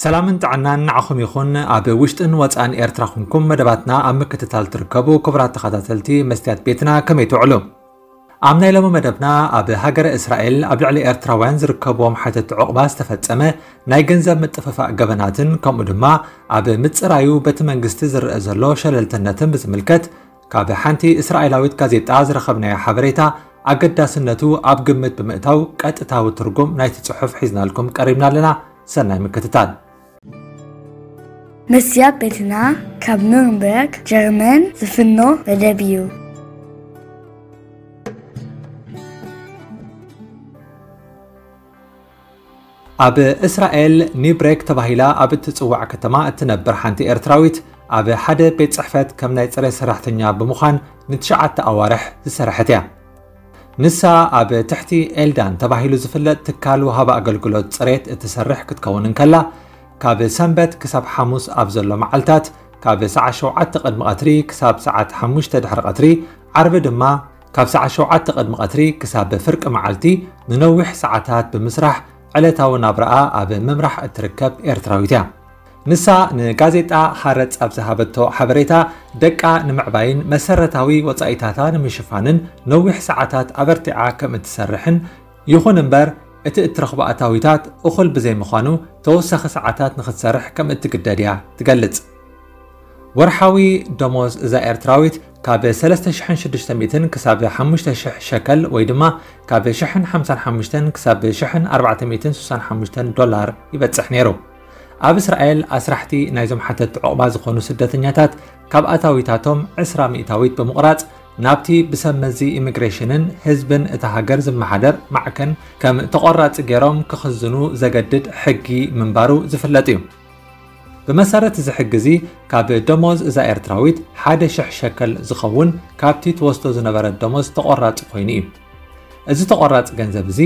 ሰላምን ጥዕናን ንዓኹም ይኹን። ኣብ ውሽጥን ወጻእን ኤርትራ ኩንኩም መደባትና ኣብ ምክትታል ትርከቡ ክቡራት ተኸታተልቲ መስትያት ቤትና፣ ከመይ ትውዕሉ? ኣብ ናይ ሎሚ መደብና፣ ኣብ ሃገረ እስራኤል ኣብ ልዕሊ ኤርትራውያን ዝርከብዎም ሓተቲ ዑቕባ ዝተፈጸመ ናይ ገንዘብ ምጥፍፋእ ገበናትን፣ ከምኡ ድማ ኣብ ምጽራዩ በቲ መንግስቲ ዝረአ ዘሎ ሸለልትነትን ብዝምልከት፣ ካብ ሓንቲ እስራኤላዊት ጋዜጣ ዝረኸብናዮ ሓበሬታ ኣገዳስነቱ ኣብ ግምት ብምእታው፣ ቀጥታዊ ትርጉም ናይቲ ጽሑፍ ሒዝናልኩም ቀሪብና ኣለና። ሰናይ ምክትታል። መስትያት ቤትና ካብ ኑርንበርግ ጀርመን ዝፍኖ መደብ እዩ። ኣብ እስራኤል ኒብሬክ ተባሂላ ኣብ እትጽዋዕ ከተማ እትነብር ሓንቲ ኤርትራዊት፣ ኣብ ሓደ ቤት ጽሕፈት ከም ናይ ጽሬት ሰራሕተኛ ብምዃን ንትሽዓተ ኣዋርሕ ዝሰርሐት እያ። ንሳ ኣብ ትሕቲ ኤልዳን ተባሂሉ ዝፍለጥ ትካል ወሃቢ ኣገልግሎት ጽሬት እትሰርሕ ክትከውን እንከላ፣ ካብ ሰንበት ክሳብ ሓሙስ ኣብ ዘሎ መዓልታት፣ ካብ ሰዓት ሸውዓተ ቅድሚ ቀትሪ ክሳብ ሰዓት ሓሙሽተ ድሕሪ ቀትሪ፣ ዓርቢ ድማ ካብ ሰዓት ሸውዓተ ቅድሚ ቀትሪ ክሳብ ፍርቂ መዓልቲ ንነዊሕ ሰዓታት ብምስራሕ፣ ዕለታዊ ናብራኣ ኣብ ምምራሕ እትርከብ ኤርትራዊት እያ። ንሳ ንጋዜጣ ሃረጽ ኣብ ዝሃበቶ ሓበሬታ፣ ደቃ ንምዕባይን መሰረታዊ ወጻኢታታ ንምሽፋንን ነዊሕ ሰዓታት ኣበርቲዓ ከም እትሰርሕን፣ ይኹን እምበር እቲ እትረኽቦ ኣታዊታት እኹል ብዘይምዃኑ፣ ተወሳኺ ሰዓታት ንኽትሰርሕ ከም እትግደድ እያ ትገልጽ። ወርሓዊ ደሞዝ እዛ ኤርትራዊት ካብ ሰለስተ ሽሕን ሽዱሽተ ሚእትን ክሳብ ሓሙሽተ ሽሕ ሸከል፣ ወይ ድማ ካብ ሽሕን ሓምሳን ሓሙሽተን ክሳብ ሽሕን ኣርባዕተ ሚእትን ስሳን ሓሙሽተን ዶላር ይበጽሕ ነይሩ። ኣብ እስራኤል፣ ኣስራሕቲ ናይዞም ሓተቲ ዑቕባ ዝኾኑ ስደተኛታት፣ ካብ ኣታዊታቶም ዕስራ ሚእታዊት ብምቑራጽ፣ ናብቲ ብሰብ መዚ ኢሚግሬሽንን ህዝብን እታ ሃገር ዝመሓደር ማዕከን ከም ተቖራጺ ገይሮም ክኽዝኑ ዘገድድ ሕጊ ምንባሩ ዝፍለጥ እዩ። ብመሰረት እዚ ሕጊ እዚ፣ ካብ ደሞዝ እዛ ኤርትራዊት ሓደ ሽሕ ሸከል ዝኸውን ካብቲ ትወስዶ ዝነበረት ደሞዝ ተቖራጺ ኮይኑ እዩ። እዚ ተቖራጺ ገንዘብ እዚ፣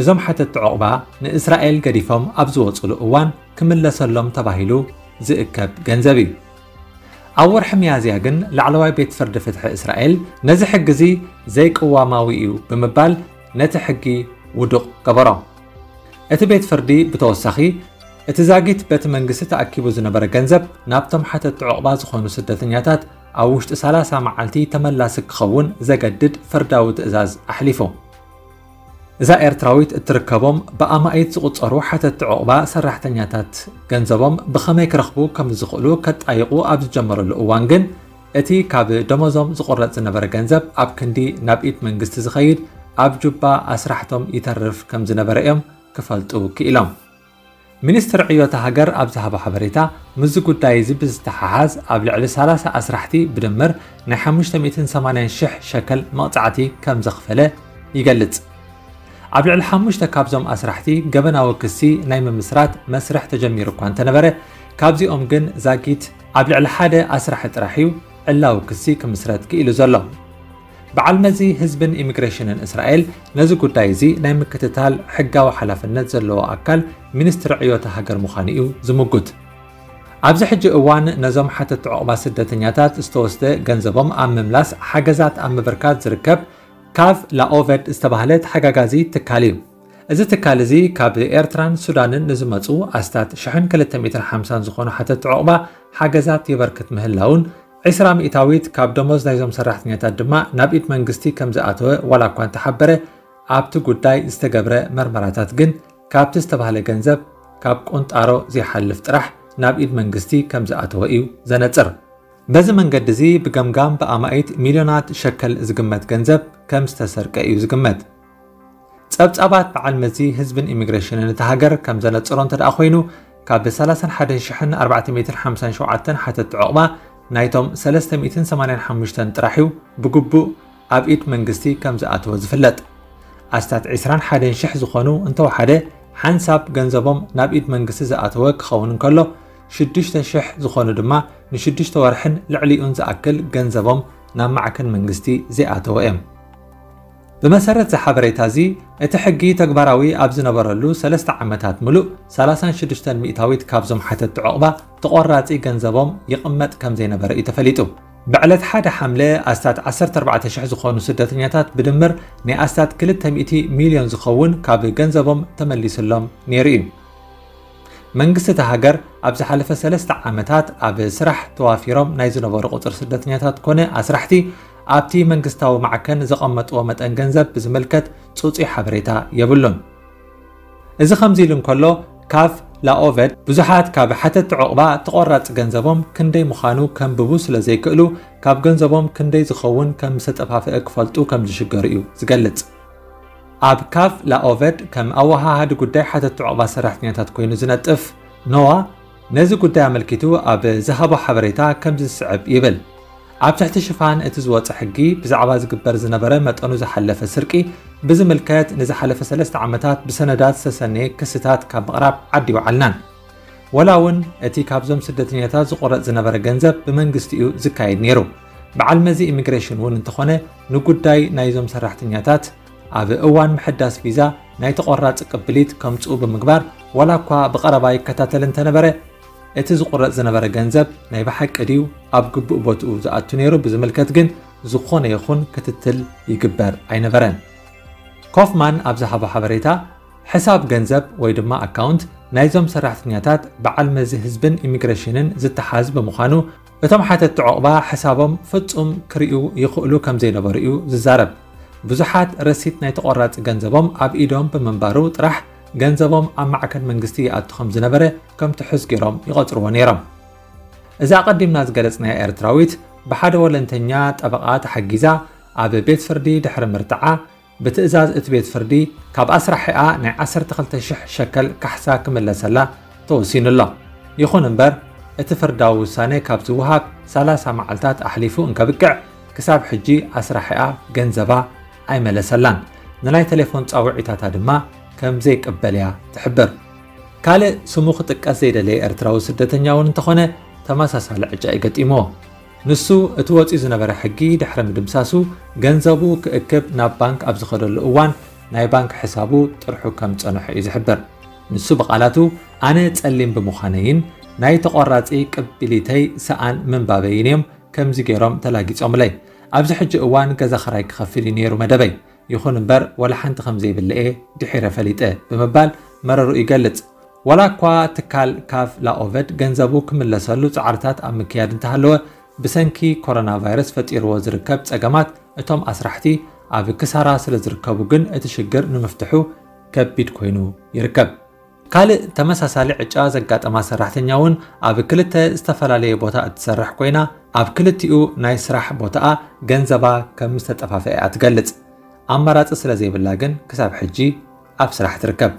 እዞም ሓተቲ ዑቕባ ንእስራኤል ገዲፎም ኣብ ዝወጹሉ እዋን ክምለሰሎም ተባሂሉ ዝእከብ ገንዘብ እዩ። ኣብ ወርሒ ሚያዝያ ግን፣ ላዕለዋይ ቤት ፍርዲ ፍትሒ እስራኤል ነዚ ሕጊ እዚ ዘይቅዋማዊ እዩ ብምባል፣ ነቲ ሕጊ ውዱቕ ገበሮ። እቲ ቤት ፍርዲ ብተወሳኺ፣ እቲ ዛጊት በቲ መንግስቲ ተኣኪቡ ዝነበረ ገንዘብ ናብቶም ሓተቲ ዑቕባ ዝኾኑ ስደተኛታት ኣብ ውሽጢ ሰላሳ መዓልቲ ተመላሲ ክኸውን ዘገድድ ፍርዳዊ ትእዛዝ ኣሕሊፉ። እዛ ኤርትራዊት እትርከቦም ብኣማኢት ዝቑጸሩ ሓተቲ ዑቕባ ሰራሕተኛታት፣ ገንዘቦም ብኸመይ ክረኽቡ ከም ዝኽእሉ ከጣይቑ ኣብ ዝጀመረሉ እዋን ግን፣ እቲ ካብ ደሞዞም ዝቑረጽ ዝነበረ ገንዘብ ኣብ ክንዲ ናብ ኢድ መንግስቲ ዝኸይድ፣ ኣብ ጁባ ኣስራሕቶም ይተርፍ ከም ዝነበረ እዮም ክፈልጡ ክኢሎም። ሚኒስትሪ ዕዮታ ሃገር ኣብ ዝሃቦ ሓበሬታ፣ ምስዚ ጉዳይ እዚ ብዝተሓሓዝ ኣብ ልዕሊ ሰላሳ ኣስራሕቲ ብድምር ናይ ሓሙሽተ ሚእትን ሰማንያን ሽሕ ሸከል መቕጻዕቲ ከም ዘኽፈለ ይገልጽ። ኣብ ልዕሊ ሓሙሽተ ካብዞም ኣስራሕቲ ገበናዊ ክሲ ናይ ምምስራት መስርሕ ተጀሚሩ እኳ እንተነበረ፣ ካብዚኦም ግን ዛጊት ኣብ ልዕሊ ሓደ ኣስራሒ ጥራሕ እዩ ዕላዊ ክሲ ክምስረት ክኢሉ ዘሎ። በዓል መዚ ህዝብን ኢሚግሬሽንን እስራኤል ነዚ ጉዳይ እዚ ናይ ምክትታል ሕጋዊ ሓላፍነት ዘለዎ ኣካል ሚኒስትሪ ዕዮታ ሃገር ምዃኑ እዩ ዝምጉት። ኣብዚ ሕጂ እዋን ነዞም ሓተቲ ዑቕባ ስደተኛታት ዝተወስደ ገንዘቦም ኣብ ምምላስ ሓገዛት ኣብ ምብርካት ዝርከብ ካቭ ላኦቨድ ዝተባህለ ተሓጋጋዚ ትካል እዩ። እዚ ትካል እዚ ካብ ኤርትራን ሱዳንን ንዝመጹ ኣስታት ሽሕን ክልተ ሚእትን ሓምሳን ዝኾኑ ሓተቲ ዑቕባ ሓገዛት የበርክት ምህላውን፣ ዕስራ ሚእታዊት ካብ ደሞዝ ናይዞም ሰራሕተኛታት ድማ ናብ ኢድ መንግስቲ ከም ዝኣተወ ዋላ እኳ እንተሓበረ፣ ኣብቲ ጉዳይ ዝተገብረ መርመራታት ግን ካብቲ ዝተባህለ ገንዘብ ካብ ቁንጣሮ ዘይሓልፍ ጥራሕ ናብ ኢድ መንግስቲ ከም ዝኣተወ እዩ ዘነጽር። በዚ መንገዲ እዚ ብገምጋም ብኣማኢት ሚልዮናት ሸከል ዝግመት ገንዘብ ከም ዝተሰርቀ እዩ ዝግመት። ጸብጻባት በዓል መዚ ህዝብን ኢሚግሬሽንን እታ ሃገር ከም ዘነጽሮ እንተ ደኣ ኮይኑ፣ ካብ ሰላሳን ሓደን ሽሕን ኣርባዕተ ሚእትን ሓምሳን ሸውዓተን ሓተቲ ዑቕባ ናይቶም ሰለስተ ሚእትን ሰማንያን ሓሙሽተን ጥራሕ እዩ ብግቡእ ኣብ ኢድ መንግስቲ ከም ዝኣተወ ዝፍለጥ። ኣስታት ዕስራን ሓደን ሽሕ ዝኾኑ እንተወሓደ ሓንሳብ ገንዘቦም ናብ ኢድ መንግስቲ ዝኣተወ ክኸውን እንከሎ፣ ሽዱሽተ ሽሕ ዝኾኑ ድማ ንሽዱሽተ ወርሕን ልዕሊኡን ዝኣክል ገንዘቦም ናብ ማዕከን መንግስቲ ዘይኣተወ እዮም። ብመሰረት እዚ ሓበሬታ እዚ፣ እቲ ሕጊ ተግባራዊ ኣብ ዝነበረሉ ሰለስተ ዓመታት ምሉእ፣ ሰላሳን ሽዱሽተን ሚእታዊት ካብዞም ሓተቲ ዑቕባ ተቖራጺ ገንዘቦም ይቕመጥ ከም ዘይነበረ እዩ ተፈሊጡ። ብዕለት ሓደ ሓምለ ኣስታት ዓሰርተ ኣርባዕተ ሽሕ ዝኾኑ ስደተኛታት ብድምር ናይ ኣስታት ክልተ ሚእቲ ሚልዮን ዝኸውን ካብ ገንዘቦም ተመሊሱሎም ነይሩ እዩ። መንግስቲ እታ ሃገር ኣብ ዝሓለፈ ሰለስተ ዓመታት ኣብ ስራሕ ተዋፊሮም ናይ ዝነበሩ ቁፅሪ ስደተኛታት ኮነ ኣስራሕቲ ኣብቲ መንግስታዊ ማዕከን ዘቐመጥዎ መጠን ገንዘብ ብዝምልከት ጽጹይ ሓበሬታ የብሉን። እዚ ከምዚ ኢሉ እንከሎ፣ ካፍ ላኦቨድ ብዙሓት ካብ ሓተቲ ዑቕባ ተቖራጺ ገንዘቦም ክንደይ ምዃኑ ከንብቡ ስለ ዘይክእሉ፣ ካብ ገንዘቦም ክንደይ ዝኸውን ከም ዝተጠፋፍአ ክፈልጡ ከም ዝሽገሩ እዩ ዝገልጽ። ኣብ ካፍ ላኦቨድ ከም ኣወሃሃዲ ጉዳይ ሓተቲ ዑቕባ ሰራሕተኛታት ኮይኑ ዝነጥፍ ኖዋ፣ ነዚ ጉዳይ ኣመልኪቱ ኣብ ዝሃቦ ሓበሬታ ከምዚ ዝስዕብ ይብል። ኣብ ትሕቲ ሽፋን እቲ ዝወጸ ሕጊ፣ ብዛዕባ ዝግበር ዝነበረ መጠኑ ዝሓለፈ ስርቂ ብዝምልከት፣ ንዝሓለፈ ሰለስተ ዓመታት ብሰነዳት ዝተሰነየ ክስታት ካብ ምቕራብ ዓዲ ይወዓልናን። ወላ እውን እቲ ካብዞም ስደተኛታት ዝቑረጽ ዝነበረ ገንዘብ ብመንግስቲ እዩ ዝካየድ ነይሩ። በዓል መዚ ኢሚግሬሽን እውን እንተኾነ፣ ንጉዳይ ናይዞም ሰራሕተኛታት ኣብ እዋን ምሕዳስ ቪዛ ናይ ተቖራጺ ቅብሊት ከምጽኡ ብምግባር፣ ዋላ እኳ ብቐረባ ይከታተል እንተነበረ፣ እቲ ዝቑረጽ ዝነበረ ገንዘብ ናይ ብሓቂ ድዩ ኣብ ግቡእ ቦትኡ ዝኣቱ ነይሩ ብዝምልከት ግን ዝኾነ ይኹን ክትትል ይግበር ኣይነበረን። ኮፍማን ኣብ ዝሃቦ ሓበሬታ፣ ሕሳብ ገንዘብ ወይ ድማ ኣካውንት ናይዞም ሰራሕተኛታት በዓል መዚ ህዝብን ኢሚግሬሽንን ዝተሓዝ ብምዃኑ፣ እቶም ሓተቲ ዑቕባ ሕሳቦም ፍጹም ክርእዩ ይኽእሉ ከም ዘይነበሩ እዩ ዝዛረብ። ብዙሓት ረሲት ናይ ተቖራጺ ገንዘቦም ኣብ ኢዶም ብምንባሩ ጥራሕ፣ ገንዘቦም ኣብ ማዕከን መንግስቲ ይኣቱ ከም ዝነበረ ከም ትሑዝ ገይሮም ይቐጽርዎ ነይሮም። እዛ ኣቐዲምና ዝገለጽናያ ኤርትራዊት፣ ብሓደ ወለንተኛ ጠበቓ ተሓጊዛ ኣብ ቤት ፍርዲ ድሕሪ ምርትዓ፣ ብትእዛዝ እቲ ቤት ፍርዲ ካብ ኣስራሒኣ ናይ ዓሰርተ ክልተ ሽሕ ሸከል ካሕሳ ክምለሰላ ተወሲኑ ኣሎ። ይኹን እምበር፣ እቲ ፍርዳዊ ውሳነ ካብ ዝወሃብ ሰላሳ መዓልታት ኣሕሊፉ እንከብቅዕ፣ ክሳብ ሕጂ ኣስራሒኣ ገንዘባ ኣይመለሰላን። ንናይ ቴሌፎን ጻውዒታታ ድማ ከም ዘይቅበል እያ ትሕብር። ካልእ ስሙ ክጥቀስ ዘይደለየ ኤርትራዊ ስደተኛ እውን እንተኾነ፣ ተመሳሳሊ ዕጫ እዩ ገጢምዎ። ንሱ፣ እቲ ወጺኡ ዝነበረ ሕጊ ድሕሪ ምድምሳሱ፣ ገንዘቡ ክእክብ ናብ ባንክ ኣብ ዝኸደሉ እዋን፣ ናይ ባንክ ሕሳቡ ጥርሑ ከም ዝጸንሖ እዩ ዝሕብር። ንሱ ብቓላቱ፣ ኣነ ጸሊም ብምዃነይን ናይ ተቖራጺ ቅቢሊተይ ሰኣን ምንባበይን እዮም ከምዚ ገይሮም ተላጊጾምለይ። ኣብዚ ሕጂ እዋን ገዛ ኽራይ ክኸፍል እዩ ነይሩ መደበይ። ይኹን እምበር፣ ወላ ሓንቲ ከም ዘይብለ እየ ድሒረ ፈሊጠ ብምባል መረርኡ ይገልጽ። ዋላ እኳ ትካል ካፍ ላኦቨድ ገንዘቡ ክምለሰሉ ጻዕርታት ኣብ ምክያድ እንተሃለወ፣ ብሰንኪ ኮሮና ቫይረስ ፈጢርዎ ዝርከብ ጸገማት፣ እቶም ኣስራሕቲ ኣብ ክሳራ ስለ ዝርከቡ ግን እቲ ሽግር ንምፍትሑ ከቢድ ኮይኑ ይርከብ። ካልእ ተመሳሳሊ ዕጫ ዘጋጠማ ሰራሕተኛ እውን ኣብ ክልተ ዝተፈላለየ ቦታ እትሰርሕ ኮይና፣ ኣብ ክልቲኡ ናይ ስራሕ ቦታኣ ገንዘባ ከም ዝተጠፋፍአ እያ ትገልጽ። ኣማራጺ ስለ ዘይብላ ግን ክሳብ ሕጂ ኣብ ስራሕ ትርከብ።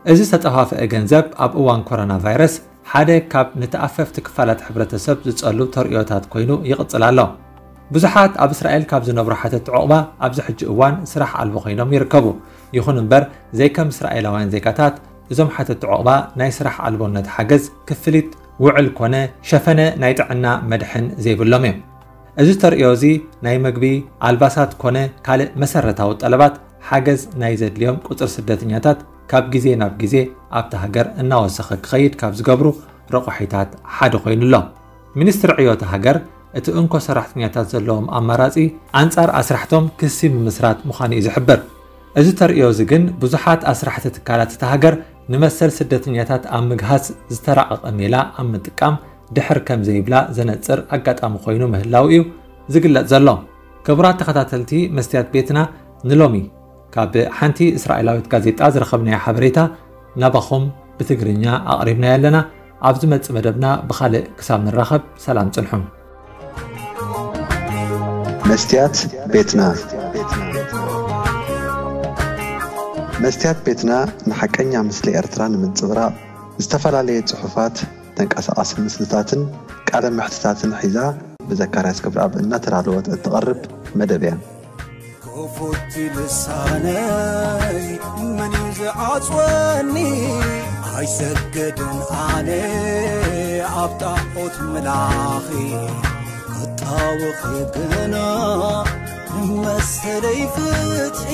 እዚ ዝተጠፋፍአ ገንዘብ ኣብ እዋን ኮሮና ቫይረስ ሓደ ካብ ንተኣፈፍቲ ክፋላት ሕብረተሰብ ዝጸሉ ተርእዮታት ኮይኑ ይቕጽል ኣሎ። ብዙሓት ኣብ እስራኤል ካብ ዝነብሩ ሓተቲ ዑቕባ ኣብዚ ሕጂ እዋን ስራሕ ኣልቦ ኮይኖም ይርከቡ። ይኹን እምበር፣ ዘይከም እስራኤላውያን ዜጋታት፣ እዞም ሓተቲ ዑቕባ ናይ ስራሕ ኣልቦነት ሓገዝ፣ ክፍሊት ውዕል ኮነ ሸፈነ ናይ ጥዕና መድሕን ዘይብሎም እዮም። እዚ ተርእዮ እዚ ናይ መግቢ፣ ኣልባሳት ኮነ ካልእ መሰረታዊ ጠለባት ሓገዝ ናይ ዘድልዮም ቁጽሪ ስደተኛታት ካብ ግዜ ናብ ግዜ ኣብታ ሃገር እናወሰኸ ክኸይድ ካብ ዝገብሩ ረቋሒታት ሓደ ኮይኑ ኣሎ። ሚኒስትሪ ዕዮ እታ ሃገር፣ እቲ እንኮ ሰራሕተኛታት ዘለዎም ኣማራጺ ኣንጻር ኣስራሕቶም ክሲ ምምስራት ምዃኑ እዩ ዝሕብር። እዚ ተርእዮ እዚ ግን ብዙሓት ኣስራሕቲ ትካላት እታ ሃገር ንመሰል ስደተኛታት ኣብ ምግሃስ ዝተራቐቐ ሜላ ኣብ ምጥቃም ድሕር ከም ዘይብላ ዘነጽር ኣጋጣሚ ኮይኑ ምህላው እዩ ዝግለጽ ዘሎ። ክቡራት ተኸታተልቲ መስትያት ቤትና፣ ንሎሚ ካብ ሓንቲ እስራኤላዊት ጋዜጣ ዝረኸብናዮ ሓበሬታ ናባኹም ብትግርኛ ኣቕሪብናዮ ኣለና። ኣብ ዝመጽእ መደብና ብኻልእ ክሳብ ንራኸብ፣ ሰላም ጽንሑ። መስትያት ቤትና። መስትያት ቤትና ንሓቀኛ ምስሊ ኤርትራ ንምንጽብራቕ፣ ዝተፈላለየ ጽሑፋት፣ ተንቀሳቓሲ ምስልታትን ቃለ መሕትታትን ሒዛ፣ ብዘካርያስ ገብረኣብ እናተዳለወት እትቐርብ መደብ እያ። ክፉት ልሳነይ መን እዩ ዝዓጽወኒ? ኣይሰገድን ኣነ ኣብ ጣዖት ምላኺ፣ ክጣወኺ ግና መሰለይ ፍትሒ።